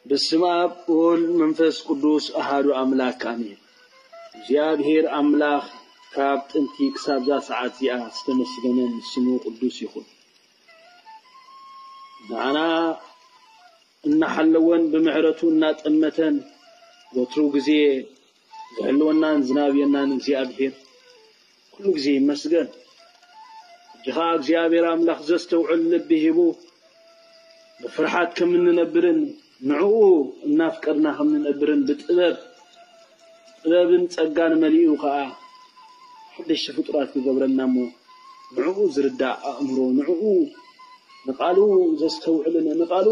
በስመ ኣብ ወወልድ መንፈስ ቅዱስ ኣሃዱ ኣምላክ ኣሜን። እግዚኣብሔር ኣምላኽ ካብ ጥንቲ ክሳብ እዛ ሰዓት እዚኣ ዝተመስገነን ስሙ ቅዱስ ይኹን። ንዓና እናሓለወን ብምሕረቱ እናጠመተን ወትሩ ግዜ ዝሕልወናን ዝናብየናን እግዚኣብሔር ኩሉ ግዜ ይመስገን። ሕጂ ኸዓ እግዚኣብሔር ኣምላኽ ዘስተውዕል ልቢ ሂቡ ብፍርሓት ከም እንነብርን ንዕኡ እናፍቀርና ከም እንነብርን ብጥበብ ጥበብን ጸጋን መሊኡ ኸዓ ሓደሽቲ ፍጡራት ክገብረና እሞ ንዕኡ ዝርዳእ ኣእምሮ ንዕኡ ንቃሉ ዘስተውዕልን ንቃሉ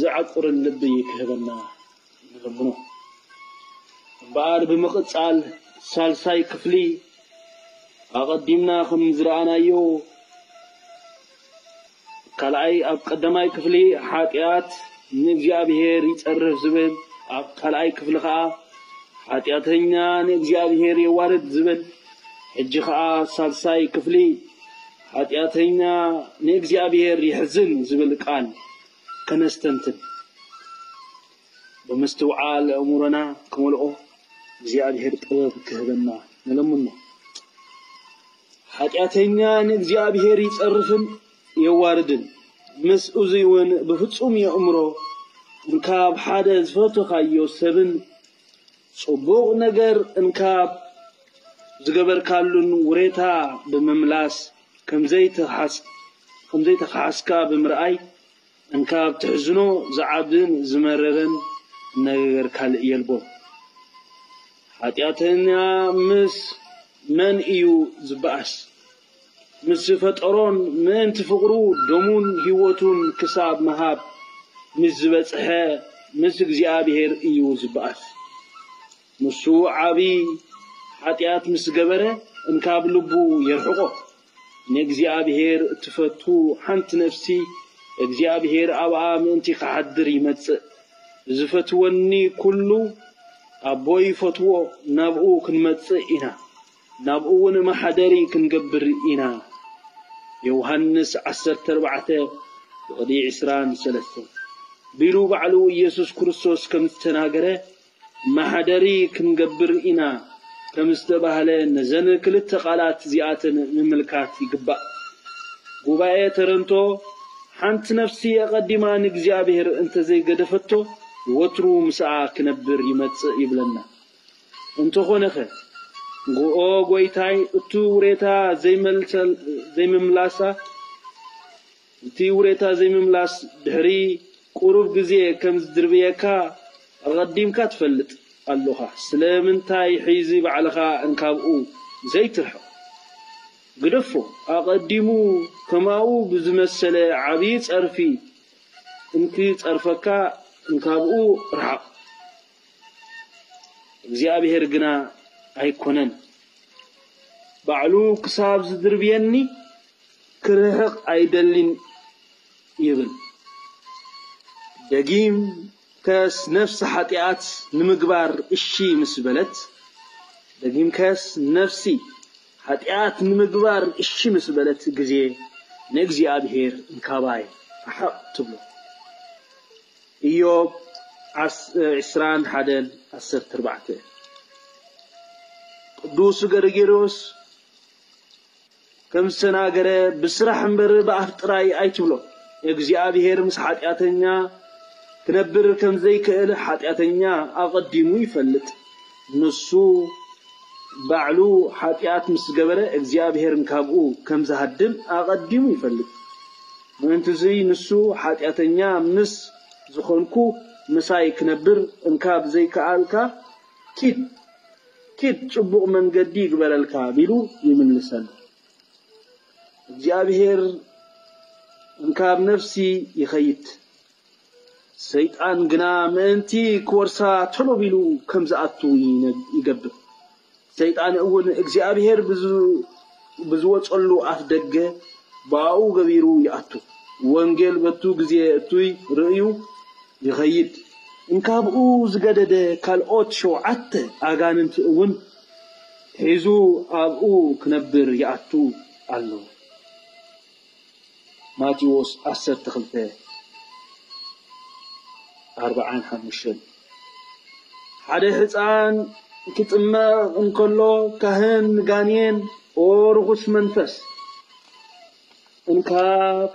ዘዕቁርን ልቢ ክህበና ንለምኖ። እምበኣር ብምቕጻል ሳልሳይ ክፍሊ ኣቐዲምና ከም ዝረኣናዮ ካልኣይ ኣብ ቀዳማይ ክፍሊ ሓጢኣት ንእግዚኣብሔር ይጸርፍ ዝብል ኣብ ካልኣይ ክፍሊ ኸዓ ሓጢኣተኛ ንእግዚኣብሔር የዋርድ ዝብል ሕጂ ኸዓ ሳልሳይ ክፍሊ ሓጢኣተኛ ንእግዚኣብሔር የሕዝን ዝብል ቃል ከነስተንትን ብምስትውዓል ኣእምሮና ክመልኦ እግዚኣብሔር ጥበብ ክህበና ንለምኖ። ሓጢኣተኛ ንእግዚኣብሔር ይጸርፍን የዋርድን። ምስ እዙይ እውን ብፍጹም የእምሮ እንካብ ሓደ ዝፈተኻዮ ሰብን ጽቡቕ ነገር እንካብ ዝገበርካሉን ውሬታ ብምምላስ ከምዘይተኻሓስካ ብምርኣይ እንካብ ትሕዝኖ ዝዓብን ዝመረረን ነገር ካልእ የልቦን። ሓጢኣተኛ ምስ መን እዩ ዝበኣስ? ምስ ዝፈጠሮን ምእንቲ ፍቕሩ ደሙን ህይወቱን ክሳብ ምሃብ ምስ ዝበጽሐ ምስ እግዚኣብሔር እዩ ዝበኣስ። ንሱ ዓቢ ሓጢኣት ምስ ገበረ እንካብ ልቡ የርሕቖ። ንእግዚኣብሔር እትፈቱ ሓንቲ ነፍሲ እግዚኣብሔር ኣብኣ ምእንቲ ክሓድር ይመጽእ። ዝፈትወኒ ኩሉ ኣቦ ይፈትዎ፣ ናብኡ ክንመጽእ ኢና፣ ናብኡ እውን መሓደሪ ክንገብር ኢና። ዮሃንስ ዓሰርተ ኣርባዕተ ብቕዲ ዕስራን ሰለስተን ቢሉ ባዕሉ ኢየሱስ ክርስቶስ ከም ዝተናገረ መሓደሪ ክንገብር ኢና ከም ዝተባህለ ነዘን ክልተ ቃላት እዚኣተን ምምልካት ይግባእ። ጉባኤ ተረንቶ ሓንቲ ነፍሲ ኣቐዲማ ንእግዚኣብሔር እንተዘይገደፈቶ ወትሩ ምስኣ ክነብር ይመጽእ ይብለና። እንተኾነኸ ኦ ጎይታይ እቱ ውሬታ ዘይመልሰል- ዘይምምላሳ እቲ ውሬታ ዘይምምላስ ድሕሪ ቁሩብ ግዜ ከም ዝድርብየካ ኣቐዲምካ ትፈልጥ ኣሎኻ። ስለምንታይ ሕዚ ባዕልኻ እንካብኡ ዘይትርሕቕ? ግደፎ። ኣቐዲሙ ከማኡ ብዝመሰለ ዓብዪ ጸርፊ እንክጸርፈካ እንካብኡ ርሓቕ። እግዚኣብሔር ግና ኣይኮነን። ባዕሉ ክሳብ ዝድርብየኒ ክርሕቕ ኣይደልን ይብል። ደጊም ከስ ነፍሲ ሓጢኣት ንምግባር እሺ ምስ በለት፣ ደጊም ከስ ነፍሲ ሓጢኣት ንምግባር እሺ ምስ በለት ግዜ ንእግዚኣብሔር እንካባይ ርሓቕ ትብሎ። ኢዮብ ዓስ- ዕስራን ሓደን ዓሰርተ ኣርባዕተ። ቅዱስ ገርጌርዮስ ከም ዝተናገረ ብስራሕ እምበር ብኣፍ ጥራይ ኣይትብሎ። እግዚኣብሔር ምስ ሓጢኣተኛ ክነብር ከም ዘይክእል ሓጢኣተኛ ኣቐዲሙ ይፈልጥ። ንሱ ባዕሉ ሓጢኣት ምስ ገበረ እግዚኣብሔር ካብኡ ከም ዝሃድም ኣቐዲሙ ይፈልጥ። ምእንቲ እዙይ ንሱ ሓጢኣተኛ ምስ ዝኾንኩ ምሳይ ክነብር እንካብ ዘይከኣልካ ኪድ ኪድ ጽቡቕ መንገዲ ይግበረልካ ቢሉ ይምልሰሉ። እግዚኣብሔር እንካብ ነፍሲ ይኸይድ። ሰይጣን ግና ምእንቲ ክወርሳ ቶሎ ቢሉ ከም ዝኣቱ ይነ- ይገብር። ሰይጣን እውን እግዚኣብሔር ብዝ- ብዝወጸሉ ኣፍ ደገ ብኣኡ ገቢሩ ይኣቱ። ወንጌል በቱ ግዜ እቱይ ርእዩ ይኸይድ። እንካብኡ ዝገደደ ካልኦት ሸውዓተ ኣጋንንቲ እውን ሒዙ ኣብኡ ክነብር ይኣቱ ኣሎ። ማቴዎስ ዓሰርተ ክልተ ኣርብዓን ሓሙሽተን ሓደ ሕፃን ክጥመቕ እንከሎ ካህን ንጋኔን፣ ኦ ርኹስ መንፈስ፣ እንካብ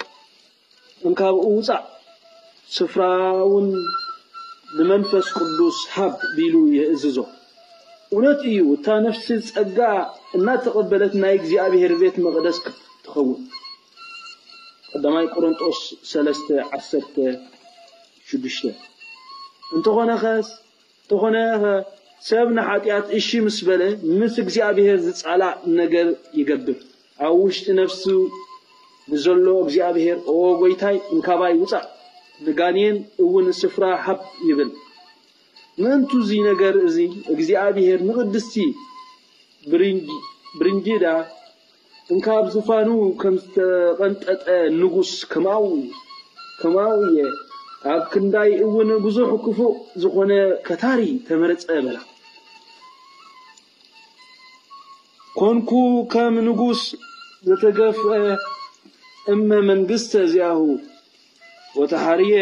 እንካብ ውፃእ፣ ስፍራ እውን ንመንፈስ ቅዱስ ሃብ ቢሉ የእዝዞ። እውነት እዩ፣ እታ ነፍሲ ጸጋ እናተቐበለት ናይ እግዚኣብሔር ቤት መቕደስ ክትኸውን። ቀዳማይ ቆሮንጦስ ሰለስተ ዓሰርተ ሽዱሽተ። እንተኾነ ኸስ እንተኾነ ኸ ሰብ ንሓጢኣት እሺ ምስ በለ ምስ እግዚኣብሔር ዝጻላእ ነገር ይገብር። ኣብ ውሽጢ ነፍሱ ንዘሎ እግዚኣብሔር ኦ ጎይታይ እንካባይ ውጻእ፣ ንጋኔን እውን ስፍራ ሃብ ይብል። ምእንቱ እዚ ነገር እዚ እግዚኣብሔር ንቕድስቲ ብሪንጊዳ እንካብ ዝፋኑ ከም ዝተቐንጠጠ ንጉስ ከማኡ ከማኡ እየ። ኣብ ክንዳይ እውን ብዙሕ ክፉእ ዝኾነ ከታሪ ተመረጸ በላ። ኮንኩ ከም ንጉስ ዘተገፍአ እመ መንግስተ እዚኣሁ ወተሓርየ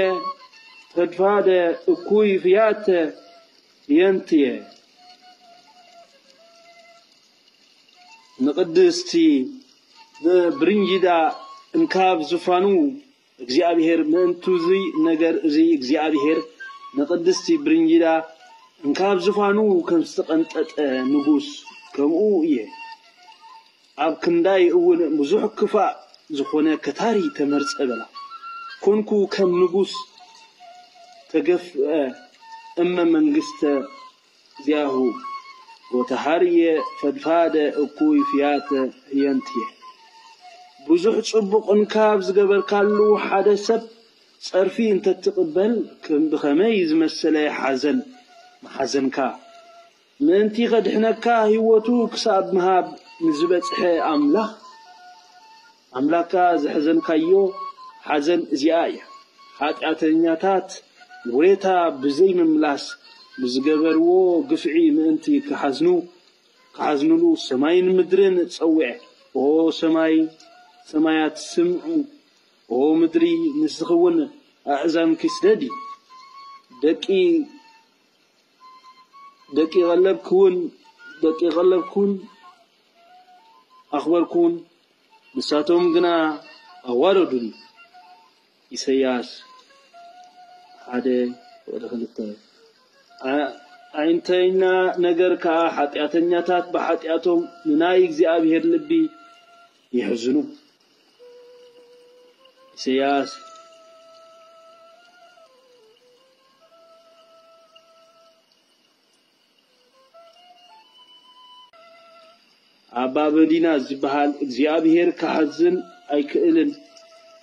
ፈድፋደ እኩይ ፍያተ የንትየ። ንቕድስቲ ብብርንጊዳ እንካብ ዝፋኑ እግዚኣብሔር ምእንቱ እዚ ነገር እዚ እግዚኣብሔር ንቕድስቲ ብርንጊዳ እንካብ ዝፋኑ ከም ዝተቐንጠጠ ንጉስ ከምኡ እየ። ኣብ ክንዳይ እውን ብዙሕ ክፋእ ዝኾነ ከታሪ ተመርጸ በላ። ኮንኩ ከም ንጉስ ተገፍአ እመ መንግስተ ዚያሁ ወተሃርየ ፈድፋደ እኩይ ፍያተ ህየንትየ። ብዙሕ ጽቡቕ እንካብ ዝገበርካሉ ሓደ ሰብ ጸርፊ እንተትቕበል ከም ብኸመይ ዝመሰለ ሓዘን መሓዘንካ። ምእንቲ ኸድሕነካ ህይወቱ ክሳብ ምሃብ ንዝበጽሐ ኣምላኽ፣ ኣምላካ ዘሐዘንካዮ ሓዘን እዚኣ እያ። ሓጢኣተኛታት ውሬታ ብዘይምምላስ ንዝገበርዎ ግፍዒ ምእንቲ ክሓዝኑ፣ ክሓዝኑሉ ሰማይን ምድርን ጸውዐ። ኦ ሰማይ ሰማያት ስምዑ፣ ኦ ምድሪ ንስኺ እውን ኣእዛንኪ ስደዲ። ደቂ ደቂ ቀለብክውን ደቂ ቀለብክውን ኣኽበርክውን፣ ንሳቶም ግና ኣዋረዱኒ። ኢሳይያስ ሓደ ወደ ክልተ። ኣ-፣ ኣዒንተይና ነገር ከኣ ሓጢኣተኛታት ብሓጢኣቶም ንናይ እግዚኣብሔር ልቢ ይሕዝኑ። ኢሳይያስ ኣባ መዲና ዝበሃል እግዚኣብሔር ክሓዝን ኣይክእልን።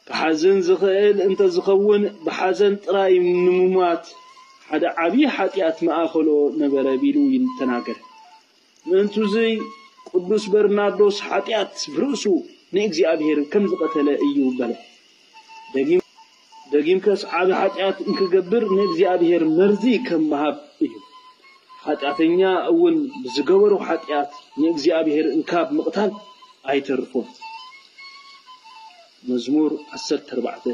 ክሓዝን ዝኽእል እንተዝኸውን ብሓዘን ጥራይ ንምሟት ሓደ ዓብዪ ሓጢኣት መኣኸሎ ነበረ ቢሉ ይተናገር። ምእንቱዚ ቅዱስ በርናርዶስ ሓጢኣት ብርእሱ ንእግዚኣብሔር ከም ዝቐተለ እዩ በለ። ደጊም-፣ ደጊምከስ ዓቢ ሓጢኣት እንክገብር ንእግዚኣብሔር መርዚ ከም ምሃብ እዩ። ሓጢኣተኛ እውን ብዝገበሮ ሓጢኣት ንእግዚኣብሔር እንካብ ምቕታል ኣይተርፎን። መዝሙር ዓሰርተ ኣርባዕተ።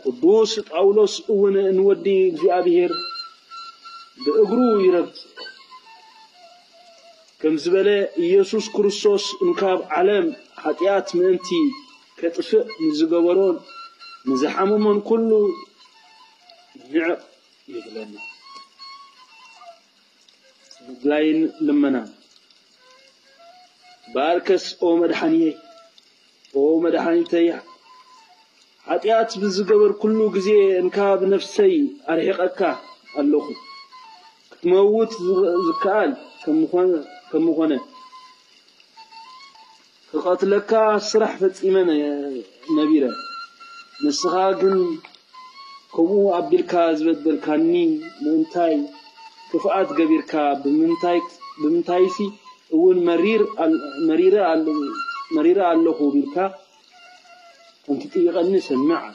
ቅዱስ ጳውሎስ እውን ንወዲ እግዚኣብሔር ብእግሩ ይረግጽ ከም ዝበለ፣ ኢየሱስ ክርስቶስ እንካብ ዓለም ሓጢኣት ምእንቲ ከጥፍእ ንዝገበሮን ንዝሓመሞን ኩሉ ንዕቕ ይብለና። ምግላይን ልመናን። በኣርከስ ኦ መድሓንየይ፣ ኦ መድሓኒተይ፣ ሓጢኣት ብዝገበርኩሉ ግዜ እንካብ ነፍሰይ ኣርሒቐካ ኣለኹ። ክትመውት ዝ-፣ ዝከኣል ከም ምኾነ፣ ከም ምኾነ፣ ክቐትለካ ስራሕ ፈጺመ ነ-፣ ነቢረ። ንስኻ ግን ከምኡ ኣቢልካ ዝበደልካኒ ምእንታይ ክፍኣት ገቢርካ? ብምንታይ፣ ብምንታይሲ እውን መሪር ኣል-፣ መሪረ ኣል-፣ መሪረ ኣለኹ ቢልካ ከም ትጥይቐኒ ሰምዕ ኣለ።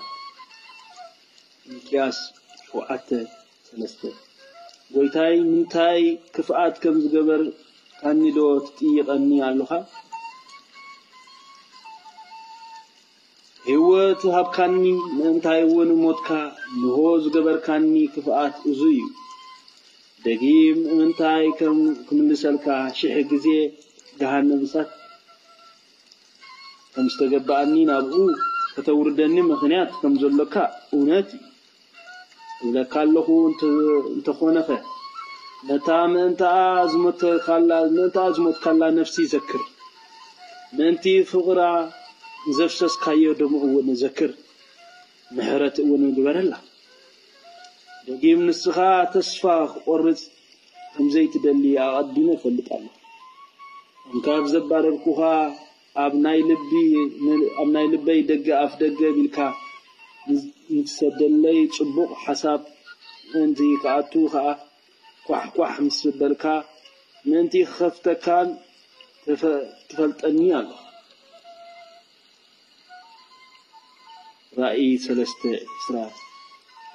ሚልክያስ ሸውዓተ ሰለስተ። ጎይታይ፣ ምንታይ ክፍኣት ከም ዝገበርካኒ ዶ ትጥይቐኒ ኣሎኻ? ህይወት ሃብካኒ፣ ምእንታይ እውን ሞትካ፣ ንሆ ዝገበርካኒ ክፍኣት እዙይ እዩ። ደጊም ምእንታይ ከም ክምልሰልካ ሽሕ ግዜ ገሃነም እሳት ከም ዝተገባኣኒ ናብኡ ከተውርደኒ ምኽንያት ከም ዘሎካ እውነት እዩ። እብለካ ኣለኹ፣ እንተ-፣ እንተኾነኸ፣ ነታ ምእንታኣ ዝሞተካላ፣ ምእንታኣ ዝሞትካላ ነፍሲ ዘክር። ምእንቲ ፍቕራ ዘፍሰስካዮ ደም እውን ዘክር። ምሕረት እውን ግበረላ። ደጊም ንስኻ ተስፋ ክቆርጽ ከም ዘይትደሊ ኣቐዲመ እፈልጥ ኣለኹ። እንካብ ዘባረርኩኻ ኣብ ናይ ልቢ፣ ኣብ ናይ ልበይ ደገ ኣፍ ደገ ቢልካ ንትሰደለይ ጽቡቕ ሓሳብ ምእንቲ ክኣቱ ኸኣ ኳሕ ኳሕ ምስ በልካ ምእንቲ ክኸፍተካን ትፈ-፣ ትፈልጠኒ ኣለኻ። ራእይ ሰለስተ ዕስራ።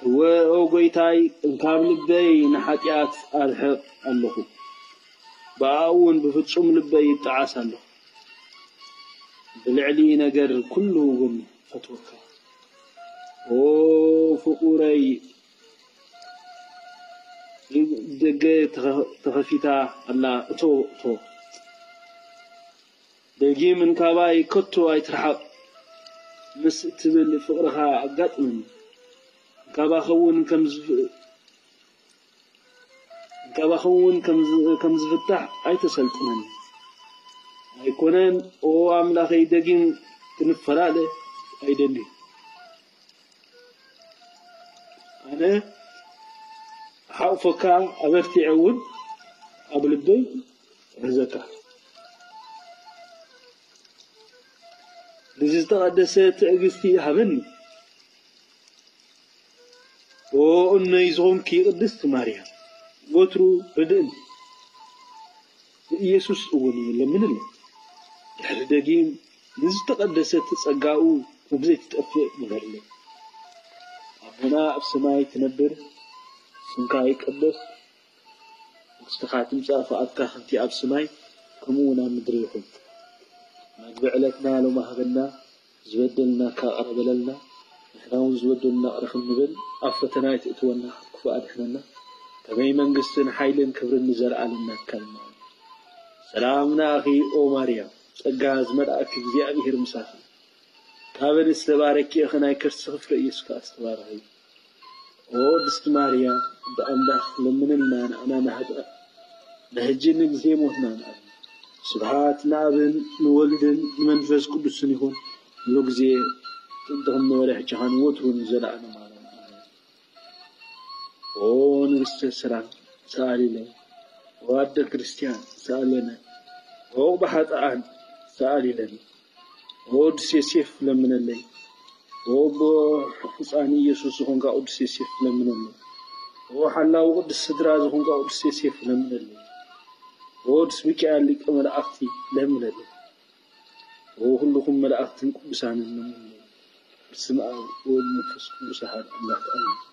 እወ፣ ኦ ጐይታይ፣ እንካብ ልበይ ንሓጢኣት ኣርሕቕ ኣለኹ፣ ብኣኡ እውን ብፍጹም ልበይ ይጠዓስ ኣለኹ። ብልዕሊ ነገር ኩሉ እውን ፈትወካ። ኦ ፍቑረይ፣ ደገ ተኸ-፣ ተኸፊታ ኣላ፣ እቶ፣ እቶ። ደጊም እንካባይ ከቶ ኣይትርሓቕ ምስ እትብል ፍቕርኻ ኣጋጥመኒ። እንካባኸ እውን ከም ዝፍ-፣ እንካባኸ እውን ከም ዝ-፣ ከም ዝፍታሕ ኣይተሰልጥነኒ። ኣይኮነን፣ ኦ ኣምላኸይ፣ ደጊም ክንፈላለ ኣይደልን። ኣነ ሓቑፈካ ኣበርቲዐ እውን ኣብ ልበይ እሕዘካ። ንዝተቐደሰ ትዕግስቲ ሃበኒ። ኦ እነይ ዝኾንኪ ቅድስቲ ማርያም፣ ወትሩ ርድእኒ። ንኢየሱስ እውን ለምንለይ። ድሕሪ ደጊም ንዝተቐደሰት ጸጋኡ ከም ዘይትጠፍእ ግበርለይ። ኣቦና ኣብ ሰማይ ትነብር፣ ስምካ ይቀደስ፣ መንግስትኻ ትምጻእ፣ ፍቓድካ ከምቲ ኣብ ሰማይ ከምኡ እውን ኣብ ምድሪ ይኹን። መግቢ ዕለትና ሎሚ ሃበና፣ ዝበደልና ይቕረ በለልና፣ ንሕና እውን ዝበደሉና ይቕረ ክንብል፣ ኣብ ፈተና ኣይትእትወና፣ ካብ ክፉእ ኣድሕነና። ከመይ መንግስትን ሓይልን ክብርን ንዘለኣለም ናትካ እዩ። ሰላም ንኣኺ ኦ ማርያም፣ ጸጋ ዝመልኣኪ እግዚኣብሔር ምሳኺ። ካብ ኣንስቲ ዝተባረኪ ኢኺ፣ ናይ ከርስኺ ፍረ ኢየሱስ ከኣ ዝተባረኸ እዩ። ኦ ቅድስቲ ማርያም፣ ብኣምላኽ ለምንልና ንዓና ንሃጥኣን፣ ንሕጂ ንግዜ ሞትና ንኣምን። ስብሃት ንኣብን ንወልድን ንመንፈስ ቅዱስን ይኹን፣ ኩሉ ግዜ ጥንቲ ከም ነበረ ሕጂ ኻን ወትሩ ንዘለኣለም ዓለም ኣሜን። ኦ ንግስተ ሰላም ሰኣሊለይ፣ ኦ ኣደ ክርስቲያን ሰኣለነ፣ ኦ ብሓጥኣን ሰኣሊለኒ። ኦ ቅዱስ ዮሴፍ ለምነለይ። ኦ ኣቦ ሕፃን ኢየሱስ ዝኾንካ ቅዱስ ዮሴፍ ለምነለይ። ኦ ሓላዊ ቅዱስ ስድራ ዝኾንካ ቅዱስ ዮሴፍ ለምነለይ። ኦ ቅዱስ ሚካኤል ሊቀ መላእኽቲ ለምነለይ። ኦ ኩልኹም መላእኽትን ቅዱሳንን ለምነለይ። በስመ ኣብ ወወልድ ወመንፈስ ቅዱስ ኣሐዱ ኣምላክ ኣሜን።